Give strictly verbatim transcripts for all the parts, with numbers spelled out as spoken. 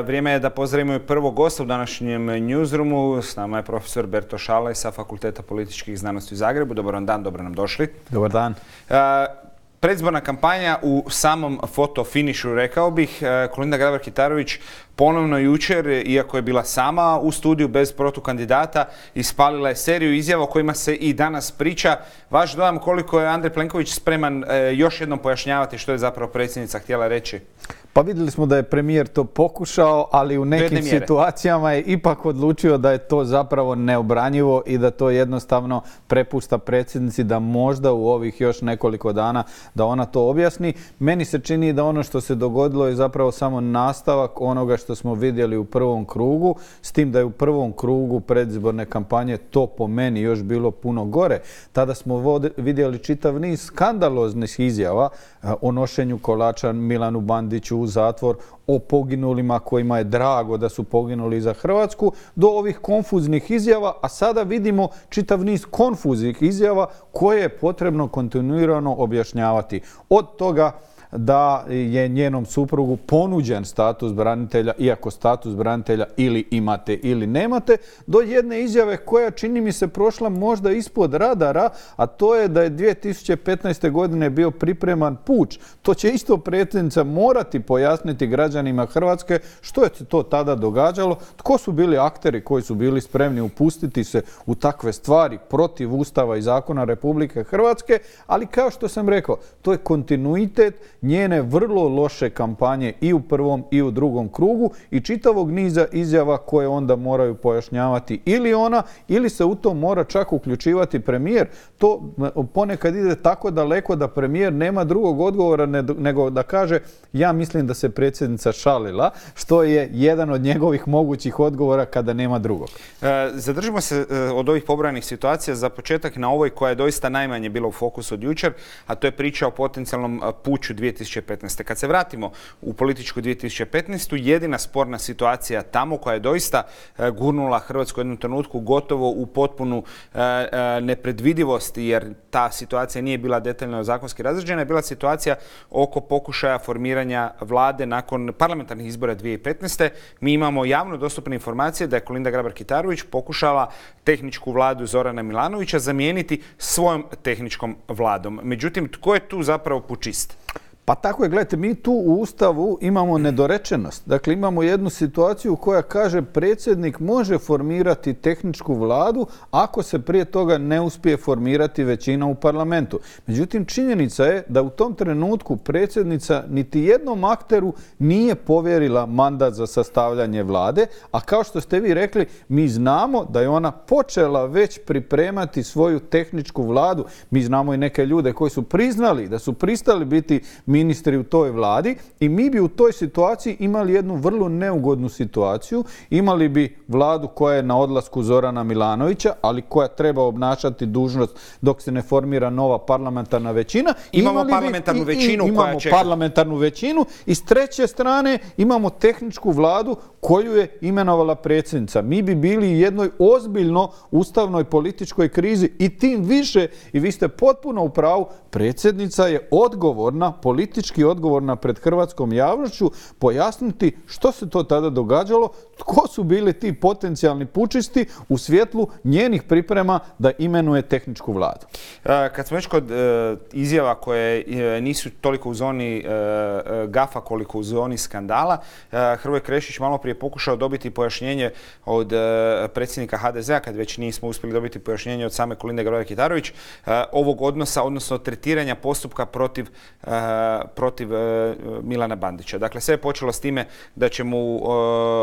Vrijeme je da pozdravimo i prvog gosta u današnjem newsroomu. S nama je profesor Berto Šalaj sa Fakulteta političkih znanosti u Zagrebu. Dobar vam dan, dobro nam došli. Dobar dan. Predizborna kampanja u samom fotofinišu, rekao bih. Kolinda Grabar-Kitarović ponovno jučer, iako je bila sama u studiju bez protukandidata, ispalila je seriju izjava o kojima se i danas priča. Vaš dojam koliko je Andrej Plenković spreman još jednom pojašnjavati što je zapravo predsjednica htjela reći? Pa vidjeli smo da je premijer to pokušao, ali u nekim situacijama je ipak odlučio da je to zapravo neobranjivo i da to jednostavno prepušta predsjednici da možda u ovih još nekoliko dana da ona to objasni. Meni se čini da ono što se dogodilo je zapravo samo nastavak onoga što smo vidjeli u prvom krugu, s tim da je u prvom krugu predizborne kampanje to po meni još bilo puno gore. Tada smo vidjeli čitav niz skandaloznih izjava o nošenju kolača Milanu Bandiću u zatvor, o poginulima kojima je drago da su poginuli za Hrvatsku, do ovih konfuznih izjava, a sada vidimo čitav niz konfuznih izjava koje je potrebno kontinuirano objašnjavati. Od toga da je njenom suprugu ponuđen status branitelja, iako status branitelja ili imate ili nemate, do jedne izjave koja čini mi se prošla možda ispod radara, a to je da je dvije tisuće petnaeste. godine bio pripreman puč. To će isto predsjednica morati pojasniti građanima Hrvatske što je se to tada događalo, tko su bili akteri koji su bili spremni upustiti se u takve stvari protiv Ustava i zakona Republike Hrvatske, ali kao što sam rekao, to je kontinuitet njene vrlo loše kampanje i u prvom i u drugom krugu i čitavog niza izjava koje onda moraju pojašnjavati ili ona ili se u to mora čak uključivati premijer. To ponekad ide tako daleko da premijer nema drugog odgovora nego da kaže ja mislim da se predsjednica šalila, što je jedan od njegovih mogućih odgovora kada nema drugog. E, zadržimo se od ovih pobrojanih situacija za početak na ovoj koja je doista najmanje bila u fokusu od jučer, a to je priča o potencijalnom puču dvije tisuće petnaeste. Kad se vratimo u političku dvije tisuće petnaestu. jedina sporna situacija tamo koja je doista gurnula Hrvatsku u jednom trenutku gotovo u potpunu nepredvidivost, jer ta situacija nije bila detaljno zakonski razrađena, je bila situacija oko pokušaja formiranja vlade nakon parlamentarnih izbora dvije tisuće petnaeste. Mi imamo javno dostupne informacije da je Kolinda Grabar-Kitarović pokušala tehničku vladu Zorana Milanovića zamijeniti svojom tehničkom vladom. Međutim, tko je tu zapravo pučist? Pa tako je, gledajte, mi tu u Ustavu imamo nedorečenost. Dakle, imamo jednu situaciju koja kaže predsjednik može formirati tehničku vladu ako se prije toga ne uspije formirati većina u parlamentu. Međutim, činjenica je da u tom trenutku predsjednica niti jednom akteru nije povjerila mandat za sastavljanje vlade, a kao što ste vi rekli, mi znamo da je ona počela već pripremati svoju tehničku vladu. Mi znamo i neke ljude koji su priznali da su pristali biti ministri u toj vladi i mi bi u toj situaciji imali jednu vrlo neugodnu situaciju. Imali bi vladu koja je na odlasku Zorana Milanovića, ali koja treba obnašati dužnost dok se ne formira nova parlamentarna većina. Imamo imali parlamentarnu bi, većinu i, i, koja imamo čeka. parlamentarnu većinu i s treće strane imamo tehničku vladu koju je imenovala predsjednica. Mi bi bili u jednoj ozbiljno ustavnoj političkoj krizi i tim više, i vi ste potpuno u pravu, predsjednica je odgovorna, politički odgovorna pred hrvatskom javnošću pojasniti što se to tada događalo, tko su bili ti potencijalni pučisti u svjetlu njenih priprema da imenuje tehničku vladu. Kad smo već kod izjava koje nisu toliko u zoni gafa koliko u zoni skandala, Hrvoje Krešić malo prije pokušao dobiti pojašnjenje od predsjednika ha de zea, kad već nismo uspjeli dobiti pojašnjenje od same Kolinde Grabar-Kitarović, ovog odnosa, odnosno tretiranja postupka protiv, protiv Milana Bandića. Dakle, sve je počelo s time da će mu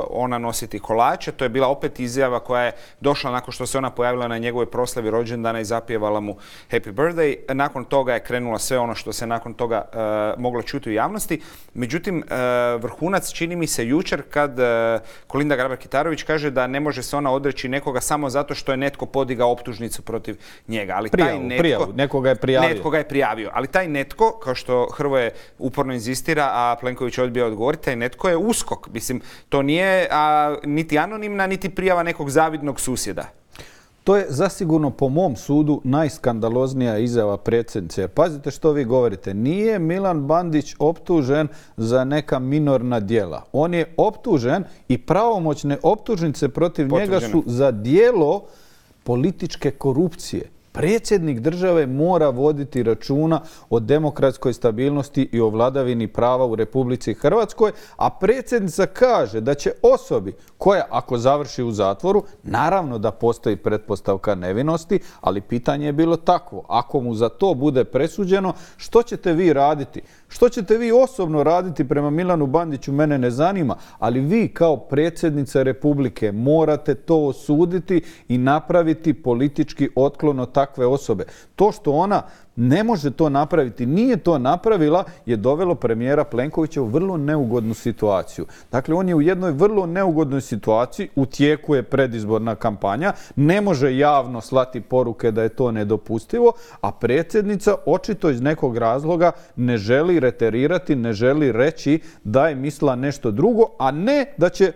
ona nositi kolače. To je bila opet izjava koja je došla nakon što se ona pojavila na njegovoj proslavi rođendana i zapjevala mu Happy Birthday. Nakon toga je krenula sve ono što se nakon toga uh, moglo čuti u javnosti. Međutim, uh, vrhunac čini mi se jučer kad uh, Kolinda Grabar-Kitarović kaže da ne može se ona odreći nekoga samo zato što je netko podigao optužnicu protiv njega. Ali prijavu, taj netko, prijavu. Nekoga je prijavio. Netko ga je prijavio. Ali taj netko, kao što Hrvoje uporno inzistira, a Plenković odbija odgovoriti, taj netko je USKOK. Mislim, to nije a, niti anonimna, niti prijava nekog zavidnog susjeda. To je zasigurno po mom sudu najskandaloznija izjava predsjednice. Jer pazite što vi govorite. Nije Milan Bandić optužen za neka minorna djela. On je optužen i pravomoćne optužnice protiv njega su za djelo političke korupcije. Predsjednik države mora voditi računa o demokratskoj stabilnosti i o vladavini prava u Republici Hrvatskoj, a predsjednica kaže da će osobi koja, ako završi u zatvoru, naravno da postoji pretpostavka nevinosti, ali pitanje je bilo takvo. Ako mu za to bude presuđeno, što ćete vi raditi? Što ćete vi osobno raditi prema Milanu Bandiću, mene ne zanima, ali vi kao predsjednica Republike morate to osuditi i napraviti politički otklon od takve osobe. To što ona ne može to napraviti, nije to napravila, je dovelo premijera Plenkovića u vrlo neugodnu situaciju. Dakle, on je u jednoj vrlo neugodnoj situaciji, u tijeku je predizborna kampanja, ne može javno slati poruke da je to nedopustivo, a predsjednica očito iz nekog razloga ne želi reterirati, ne želi reći da je mislila nešto drugo, a ne da će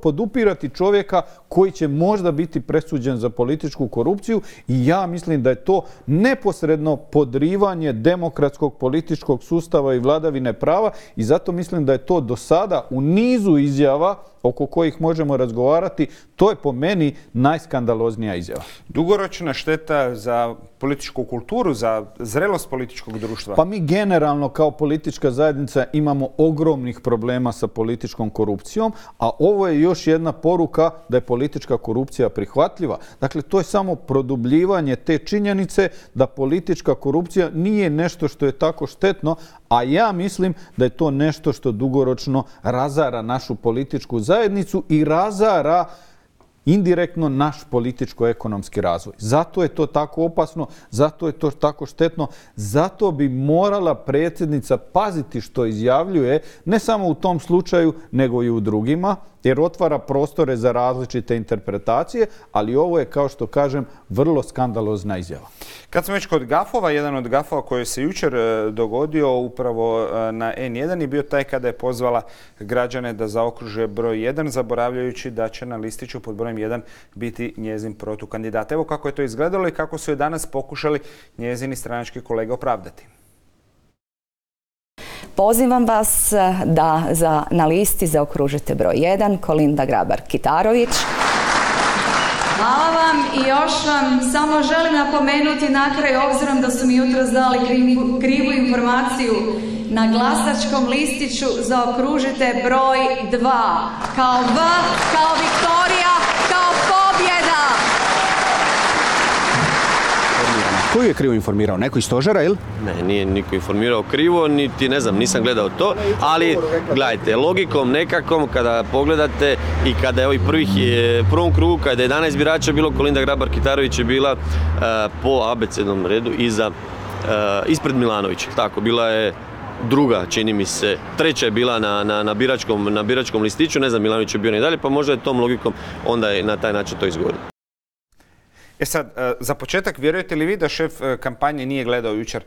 podupirati čovjeka koji će možda biti presuđen za političku korupciju, i ja mislim da je to neposredno podrivanje demokratskog političkog sustava i vladavine prava, i zato mislim da je to do sada u nizu izjava oko kojih možemo razgovarati, to je po meni najskandaloznija izjava. Dugoročna šteta za političku kulturu, za zrelost političkog društva? Pa mi generalno kao politička zajednica imamo ogromnih problema sa političkom korupcijom, a ovo je još jedna poruka da je politička korupcija prihvatljiva. Dakle, to je samo produbljivanje te činjenice da politička korupcija nije nešto što je tako štetno, a ja mislim da je to nešto što dugoročno razara našu političku zajednicu i razara indirektno naš političko-ekonomski razvoj. Zato je to tako opasno, zato je to tako štetno, zato bi morala predsjednica paziti što izjavljuje, ne samo u tom slučaju, nego i u drugima, jer otvara prostore za različite interpretacije, ali ovo je, kao što kažem, vrlo skandalozna izjava. Kad smo već kod gafova, jedan od gafova koji se jučer dogodio upravo na en jedan je bio taj kada je pozvala građane da zaokruže broj jedan, zaboravljajući da će na listiću pod brojem jedan biti njezin protukandidat. Evo kako je to izgledalo i kako su je danas pokušali njezini stranački kolege opravdati. Pozivam vas da za, na listi zaokružite broj jedan, Kolinda Grabar-Kitarović. Hvala vam i još vam samo želim napomenuti na kraju, obzirom da su mi jutros dali krivu, krivu informaciju, na glasačkom listiću zaokružite broj dva, kao V, kao Viktorija, kao pobjeda. Koju je krivo informirao? Neko iz stožera, ili? Ne, nije niko informirao krivo, niti ne znam, nisam gledao to, ali gledajte, logikom nekakvom kada pogledate i kada je ovih prvih je, prvom krugu, kada je jedanaest birača bilo, Kolinda Grabar-Kitarović je bila uh, po abecednom redu iza, uh, ispred Milanovića. Tako, bila je druga, čini mi se, treća je bila na, na, na, biračkom, na biračkom listiću, ne znam, Milanović je bio i dalje, pa možda je tom logikom onda je na taj način to izgovorio. E sad, za početak, vjerujete li vi da šef kampanje nije gledao jučer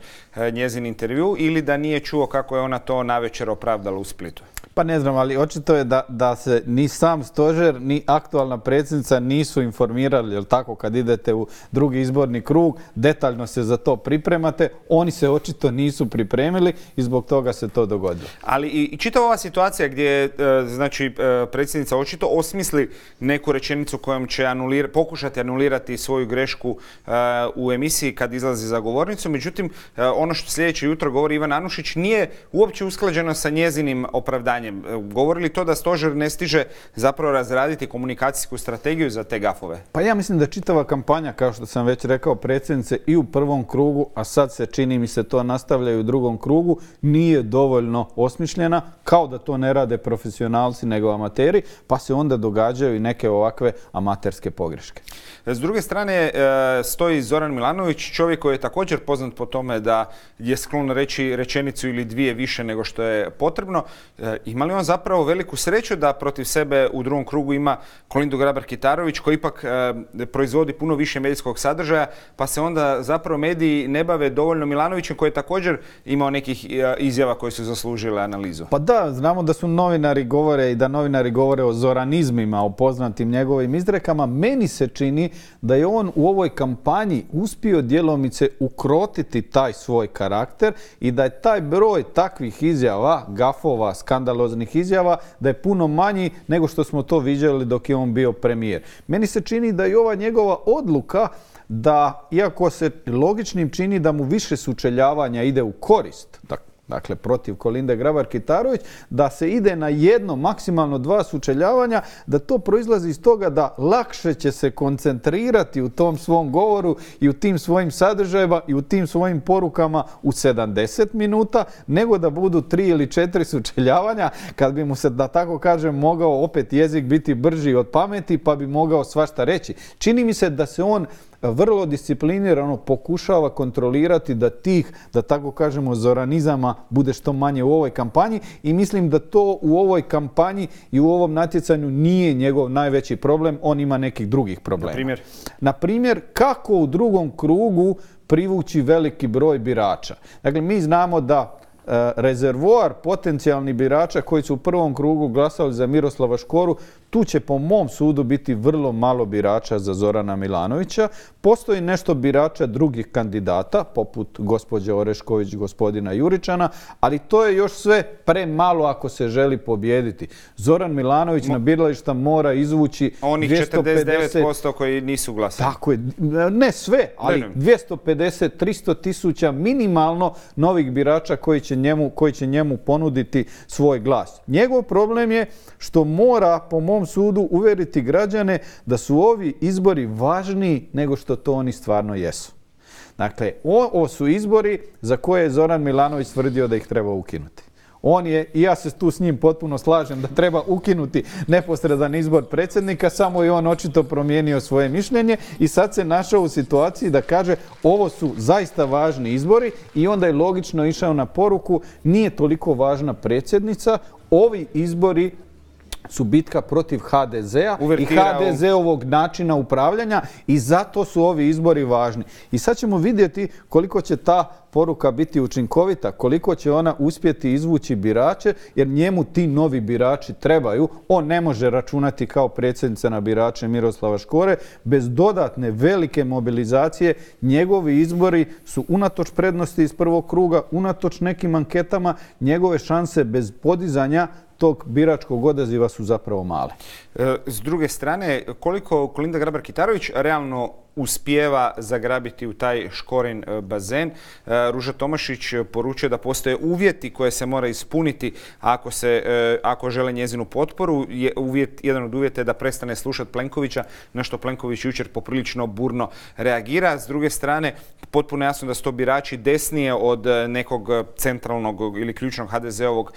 njezin intervju ili da nije čuo kako je ona to navečer opravdala u Splitu? Pa ne znam, ali očito je da, da se ni sam stožer, ni aktualna predsjednica nisu informirali, jel tako, kad idete u drugi izborni krug, detaljno se za to pripremate, oni se očito nisu pripremili i zbog toga se to dogodilo. Ali i, i čitava ova situacija gdje znači, predsjednica očito osmisli neku rečenicu kojom će anulir, pokušati anulirati svoju grešku uh, u emisiji kad izlazi za govornicu, međutim, uh, ono što sljedeće jutro govori Ivan Anušić nije uopće usklađeno sa njezinim opravdanjem. Govori li to da stožer ne stiže zapravo razraditi komunikacijsku strategiju za te gafove? Pa ja mislim da čitava kampanja, kao što sam već rekao, predsjednice i u prvom krugu, a sad se čini mi se to nastavlja i u drugom krugu, nije dovoljno osmišljena, kao da to ne rade profesionalci nego amateri, pa se onda događaju i neke ovakve amaterske pogreške. S druge strane stoji Zoran Milanović, čovjek koji je također poznat po tome da je sklon reći rečenicu ili dvije više nego što je potrebno. Ima li on zapravo veliku sreću da protiv sebe u drugom krugu ima Kolindu Grabar-Kitarović, koji ipak proizvodi puno više medijskog sadržaja, pa se onda zapravo mediji ne bave dovoljno Milanovićem, koji je također imao nekih izjava koje su zaslužile analizu? Pa da, da, znamo da su novinari govore i da novinari govore o zoranizmima, o poznatim njegovim izrekama. Meni se čini da je on u ovoj kampanji uspio djelomice ukrotiti taj svoj karakter i da je taj broj takvih izjava, gafova, skandaloznih izjava, da je puno manji nego što smo to viđali dok je on bio premijer. Meni se čini da je ova njegova odluka da, iako se logičnim čini da mu više sučeljavanja ide u korist, dakle protiv Kolinde Grabar-Kitarović, da se ide na jedno, maksimalno dva sučeljavanja, da to proizlazi iz toga da lakše će se koncentrirati u tom svom govoru i u tim svojim sadržajima i u tim svojim porukama u sedamdeset minuta, nego da budu tri ili četiri sučeljavanja, kad bi mu se, da tako kažem, mogao opet jezik biti brži od pameti, pa bi mogao svašta reći. Čini mi se da se on vrlo disciplinirano pokušava kontrolirati da tih, da tako kažemo, zoranizama bude što manje u ovoj kampanji i mislim da to u ovoj kampanji i u ovom natjecanju nije njegov najveći problem, on ima nekih drugih problema. Na primjer? Na primjer, kako u drugom krugu privući veliki broj birača. Dakle, mi znamo da rezervoar potencijalnih birača koji su u prvom krugu glasali za Miroslava Škoru, tu će po mom sudu biti vrlo malo birača za Zorana Milanovića. Postoji nešto birača drugih kandidata, poput gospođe Orešković, gospodina Juričana, ali to je još sve premalo ako se želi pobijediti. Zoran Milanović Mo... na birališta mora izvući onih dvjesto pedeset... četrdeset devet posto koji nisu glasali. Tako je, ne sve, ali dvjesto pedeset do tristo tisuća minimalno novih birača koji će njemu, koji će njemu ponuditi svoj glas. Njegov problem je što mora, po mom sudu, uvjeriti građane da su ovi izbori važniji nego što to oni stvarno jesu. Dakle, ovo su izbori za koje je Zoran Milanović tvrdio da ih treba ukinuti. On je, i ja se tu s njim potpuno slažem, da treba ukinuti neposredan izbor predsjednika, samo je on očito promijenio svoje mišljenje i sad se našao u situaciji da kaže ovo su zaista važni izbori i onda je logično išao na poruku nije toliko važna predsjednica, ovi izbori su bitka protiv ha de zea i ha de zeovog načina upravljanja i zato su ovi izbori važni. I sad ćemo vidjeti koliko će ta poruka biti učinkovita, koliko će ona uspjeti izvući birače, jer njemu ti novi birači trebaju. On ne može računati kao predsjednica na birače Miroslava Škore. Bez dodatne velike mobilizacije njegovi izbori su unatoč prednosti iz prvog kruga, unatoč nekim anketama, njegove šanse bez podizanja tog biračkog odaziva su zapravo male. S druge strane, koliko Kolinda Grabar-Kitarović realno uspijeva zagrabiti u taj Škorin bazen. Ruža Tomašić poručuje da postoje uvjeti koje se mora ispuniti ako, se, ako žele njezinu potporu. Je uvjet, jedan od uvjeta je da prestane slušati Plenkovića, na što Plenković jučer poprilično burno reagira. S druge strane, potpuno jasno da su to birači desnije od nekog centralnog ili ključnog ha de zeovog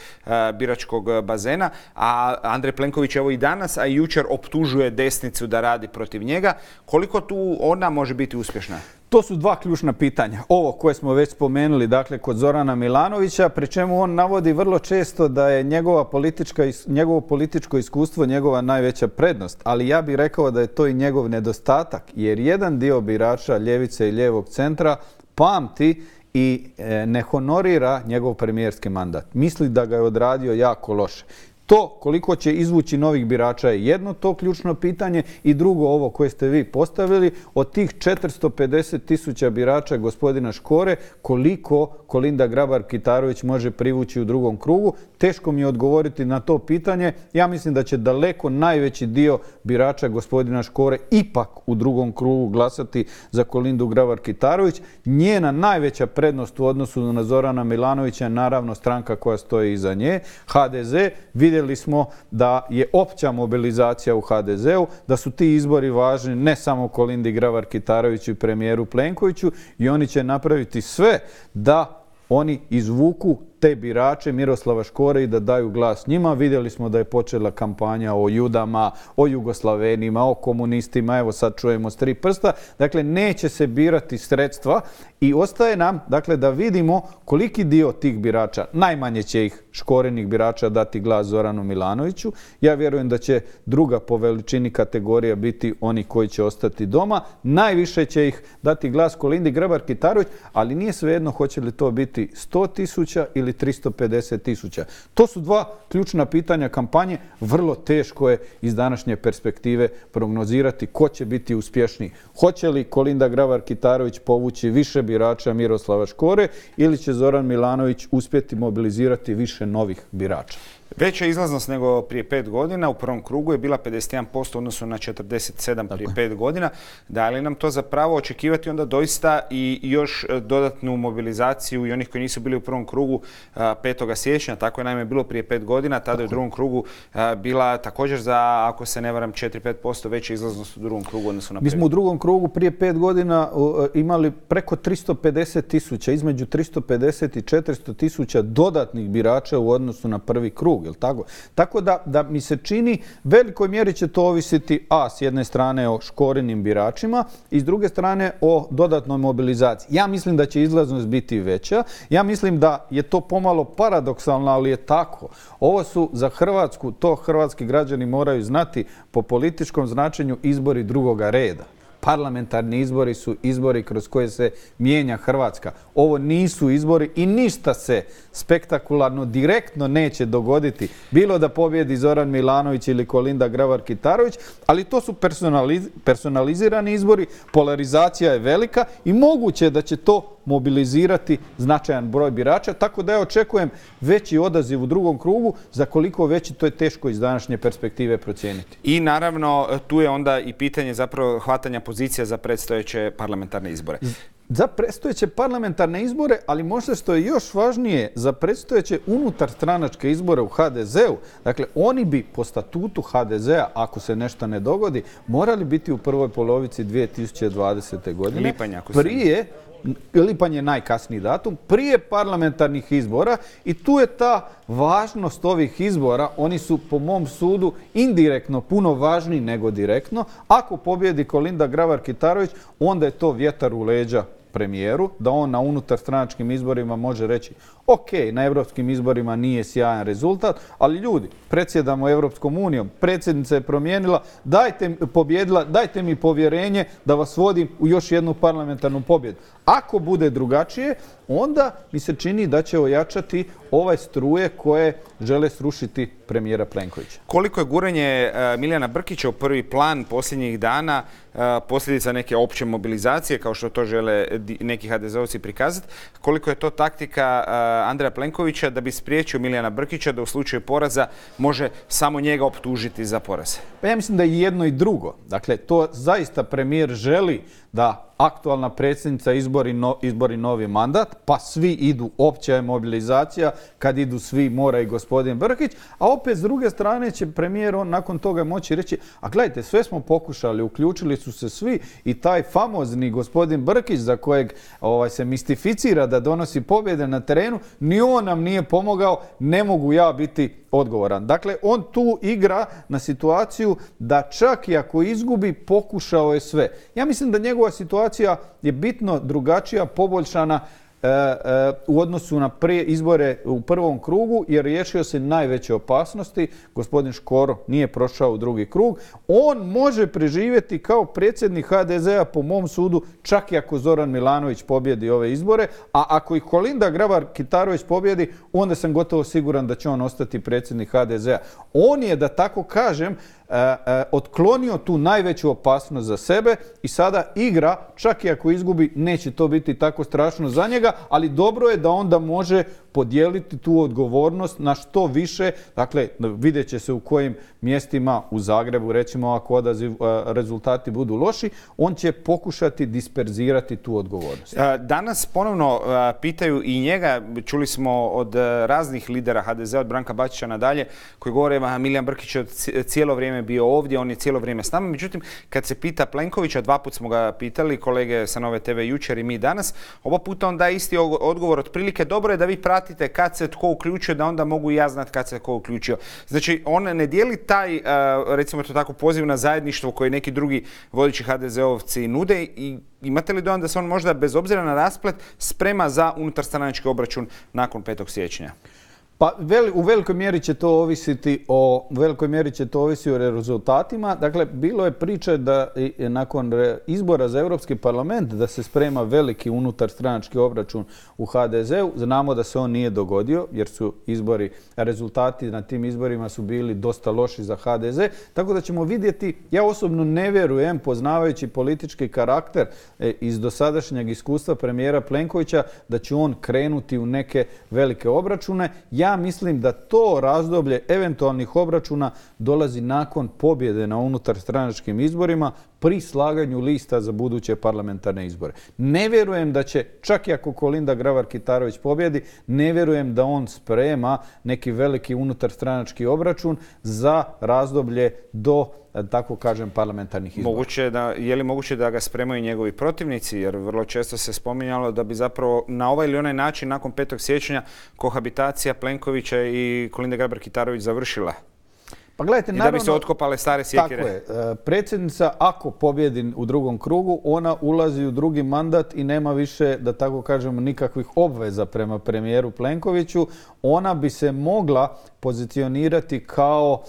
biračkog bazena, a Andrej Plenković evo i danas, a i jučer optužuje desnicu da radi protiv njega. Koliko tu ona može biti uspješna? To su dva ključna pitanja. Ovo koje smo već spomenuli, dakle, kod Zorana Milanovića, pri čemu on navodi vrlo često da je njegova politička, njegovo političko iskustvo njegova najveća prednost. Ali ja bih rekao da je to i njegov nedostatak, jer jedan dio birača ljevice i lijevog centra pamti i ne honorira njegov premijerski mandat. Misli da ga je odradio jako loše. To koliko će izvući novih birača je jedno to ključno pitanje i drugo ovo koje ste vi postavili. Od tih četiristo pedeset tisuća birača gospodina Škore, koliko Kolinda Grabar-Kitarović može privući u drugom krugu? Teško mi je odgovoriti na to pitanje. Ja mislim da će daleko najveći dio birača gospodina Škore ipak u drugom krugu glasati za Kolindu Grabar-Kitarović. Njena najveća prednost u odnosu na Zorana Milanovića je naravno stranka koja stoji iza nje, ha de ze. Vidjeli smo da je opća mobilizacija u ha de zeu, da su ti izbori važni ne samo Kolindi Grabar-Kitaroviću i premijeru Plenkoviću i oni će napraviti sve da oni izvuku te birače Miroslava Škore i da daju glas njima. Vidjeli smo da je počela kampanja o Judama, o Jugoslavenima, o komunistima, evo sad čujemo s tri prsta. Dakle, neće se birati sredstva i ostaje nam, dakle, da vidimo koliki dio tih birača, najmanje će ih Škorinih birača dati glas Zoranu Milanoviću. Ja vjerujem da će druga po veličini kategorija biti oni koji će ostati doma. Najviše će ih dati glas Kolindi Grabar-Kitarović, ali nije svejedno hoće li to biti sto tisuća ili tristo pedeset tisuća. To su dva ključna pitanja kampanje. Vrlo teško je iz današnje perspektive prognozirati ko će biti uspješniji. Hoće li Kolinda Grabar-Kitarović povući više birača Miroslava Škore ili će Zoran Milanović uspjeti mobilizirati više novih birača? Veća izlaznost nego prije pet godina. U prvom krugu je bila pedeset jedan posto u odnosu na četrdeset sedam prije pet godina. Da li nam to zapravo očekivati onda doista i još dodatnu mobilizaciju i onih koji nisu bili u prvom krugu petog siječnja? Tako je naime bilo prije pet godina. Tada je u drugom krugu bila također za, ako se ne varam, četiri do pet posto veća izlaznost u drugom krugu odnosu na prvi. Mi smo u drugom krugu prije pet godina imali preko tristo pedeset tisuća, između tristo pedeset i četiristo tisuća dodatnih birača u odnosu na prvi krug. Tako, tako da, da mi se čini, velikoj mjeri će to ovisiti a s jedne strane o Škorinim biračima i s druge strane o dodatnoj mobilizaciji. Ja mislim da će izlaznost biti veća. Ja mislim da je to pomalo paradoksalno, ali je tako. Ovo su za Hrvatsku, to hrvatski građani moraju znati, po političkom značenju izbori drugoga reda. Parlamentarni izbori su izbori kroz koje se mijenja Hrvatska. Ovo nisu izbori i ništa se spektakularno, direktno neće dogoditi. Bilo da pobjedi Zoran Milanović ili Kolinda Grabar-Kitarović, ali to su personalizirani izbori, polarizacija je velika i moguće je da će to mobilizirati značajan broj birača, tako da ja očekujem veći odaziv u drugom krugu, za koliko veći to je teško iz današnje perspektive procijeniti. I naravno tu je onda i pitanje zapravo hvatanja pozicija za predstojeće parlamentarne izbore. Za predstojeće parlamentarne izbore, ali možda što je još važnije, za predstojeće unutar stranačke izbore u ha de zeu, dakle oni bi po statutu ha de zea, ako se nešto ne dogodi, morali biti u prvoj polovici dvije tisuće dvadesete. godine. Lipanj, ako se... Prije, lipanj je najkasniji datum, prije parlamentarnih izbora i tu je ta važnost ovih izbora. Oni su po mom sudu indirektno puno važniji nego direktno. Ako pobjedi Kolinda Grabar-Kitarović, onda je to vjetar u leđa premijeru, da on na unutarstranačkim izborima može reći ok, na europskim izborima nije sjajan rezultat, ali ljudi, predsjedamo Europskom unijom, predsjednica je promijenila, dajte, pobjedila, dajte mi povjerenje da vas vodim u još jednu parlamentarnu pobjedu. Ako bude drugačije, onda mi se čini da će ojačati ovaj struje koje žele srušiti premijera Plenkovića. Koliko je guranje Milijana Brkića u prvi plan posljednjih dana posljedica neke opće mobilizacije, kao što to žele neki ha de zeovci prikazati, koliko je to taktika Andreja Plenkovića da bi spriječio Milijana Brkića da u slučaju poraza može samo njega optužiti za poraz? Pa ja mislim da je jedno i drugo. Dakle, to zaista premijer želi da aktualna predsjednica izbori, no, izbori novi mandat, pa svi idu, opća je mobilizacija, kad idu svi mora i gospodin Brkić, a opet s druge strane će premijer on nakon toga moći reći, a gledajte, sve smo pokušali, uključili su se svi i taj famozni gospodin Brkić za kojeg ovaj, se mistificira da donosi pobjede na terenu, ni on nam nije pomogao, ne mogu ja biti odgovoran. Dakle, on tu igra na situaciju da čak i ako izgubi, pokušao je sve. Ja mislim da njegova situacija je bitno drugačija, poboljšana e, e, u odnosu na prije izbore u prvom krugu, jer riješio se najveće opasnosti. Gospodin Škoro nije prošao u drugi krug. On može preživjeti kao predsjednik ha de zea, po mom sudu, čak i ako Zoran Milanović pobjedi ove izbore, a ako i Kolinda Grabar-Kitarović pobjedi, onda sam gotovo siguran da će on ostati predsjednik ha de zea. On je, da tako kažem, Uh, uh, otklonio tu najveću opasnost za sebe i sada igra, čak i ako izgubi, neće to biti tako strašno za njega, ali dobro je da onda može podijeliti tu odgovornost na što više. Dakle, vidjet će se u kojim mjestima u Zagrebu, recimo ako odaziv, uh, rezultati budu loši, on će pokušati disperzirati tu odgovornost. Danas ponovno uh, pitaju i njega, čuli smo od uh, raznih lidera ha de zea, od Branka Bačića nadalje, koji govore da Milijan Brkić je cijelo vrijeme bio ovdje, on je cijelo vrijeme s nama. Međutim, kad se pita Plenkovića, dva put smo ga pitali, kolege sa Nove te ve jučer i mi danas, oba puta on daje isti odgovor, otprilike dobro je da vi pratite kad se tko uključio, da onda mogu i ja znati kad se tko uključio. Znači, on ne dijeli taj, recimo to tako, poziv na zajedništvo koji neki drugi vodeći ha de zeovci nude i imate li dojam da se on možda, bez obzira na rasplet, sprema za unutarstranački obračun nakon petog siječnja? Pa veli, u velikoj mjeri će to ovisiti o u velikoj mjeri će to ovisiti o rezultatima. Dakle, bilo je priče da i, nakon izbora za Europski parlament da se sprema veliki unutar stranački obračun u ha de zeu. Znamo da se on nije dogodio jer su izbori, rezultati na tim izborima su bili dosta loši za ha de ze. Tako da ćemo vidjeti, ja osobno ne vjerujem, poznavajući politički karakter e, iz dosadašnjeg iskustva premijera Plenkovića, da će on krenuti u neke velike obračune. Ja mislim da to razdoblje eventualnih obračuna dolazi nakon pobjede na unutarstranačkim izborima pri slaganju lista za buduće parlamentarne izbore. Ne vjerujem da će, čak i ako Kolinda Grabar-Kitarović pobjedi, ne vjerujem da on sprema neki veliki unutarstranački obračun za razdoblje do, tako kažem, parlamentarnih izbora. Moguće da, je li moguće da ga spremaju njegovi protivnici? Jer vrlo često se spominjalo da bi zapravo na ovaj ili onaj način nakon petog siječnja kohabitacija Plenkovića i Kolinde Grabar-Kitarović završila. Pa gledajte, I naravno, da bi se otkopale stare sjekire. Tako je. Predsjednica, ako pobjedi u drugom krugu, ona ulazi u drugi mandat i nema više, da tako kažemo, nikakvih obveza prema premijeru Plenkoviću. Ona bi se mogla pozicionirati kao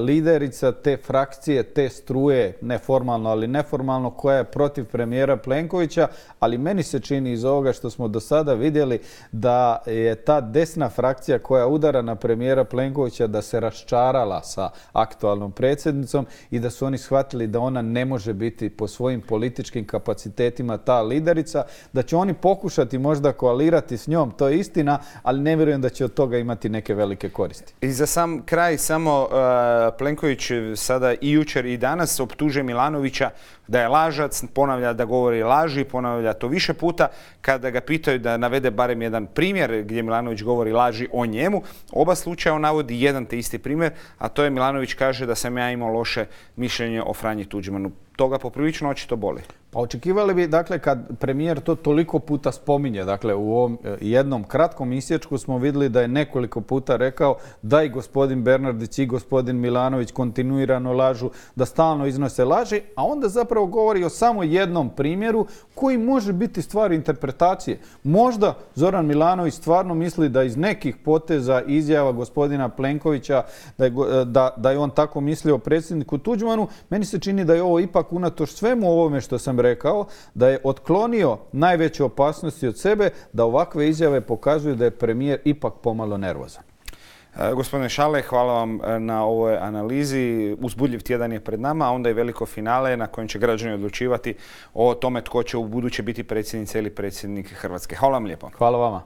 liderica te frakcije, te struje, neformalno, ali neformalno, koja je protiv premijera Plenkovića, ali meni se čini iz ovoga što smo do sada vidjeli da je ta desna frakcija koja udara na premijera Plenkovića da se raščarala sa aktualnom predsjednicom i da su oni shvatili da ona ne može biti po svojim političkim kapacitetima ta liderica, da će oni pokušati možda koalirati s njom, to je istina, ali ne vjerujem da će od toga imati neke velike koristi. I za sam kraj samo uh, Plenković sada i jučer i danas optužuje Milanovića da je lažac, ponavlja da govori laži, ponavlja to više puta. Kada ga pitaju da navede barem jedan primjer gdje Milanović govori laži o njemu, oba slučaja on navodi jedan te isti primjer, a to je Milanović kaže da sam ja imao loše mišljenje o Franji Tuđmanu. Toga poprilično očito boli. Pa očekivali bi, dakle, kad premijer to toliko puta spominje, dakle, u ovom jednom kratkom isječku smo vidjeli da je nekoliko puta rekao da i gospodin Bernardić i gospodin Milanović kontinuirano lažu, da stalno iznose laži, a onda zapravo govori o samo jednom primjeru koji može biti stvar interpretacije. Možda Zoran Milanović stvarno misli da iz nekih poteza izjava gospodina Plenkovića da je, da, da je on tako mislio o predsjedniku Tuđmanu. Meni se čini da je ovo ipak unatoč svemu ovome što sam rekao, da je otklonio najveće opasnosti od sebe, da ovakve izjave pokazuju da je premijer ipak pomalo nervozan. E, gospodine Šale, hvala vam na ovoj analizi. Uzbudljiv tjedan je pred nama, a onda je veliko finale na kojem će građani odlučivati o tome tko će u buduće biti predsjednica ili predsjednik Hrvatske. Hvala vam lijepo. Hvala vama.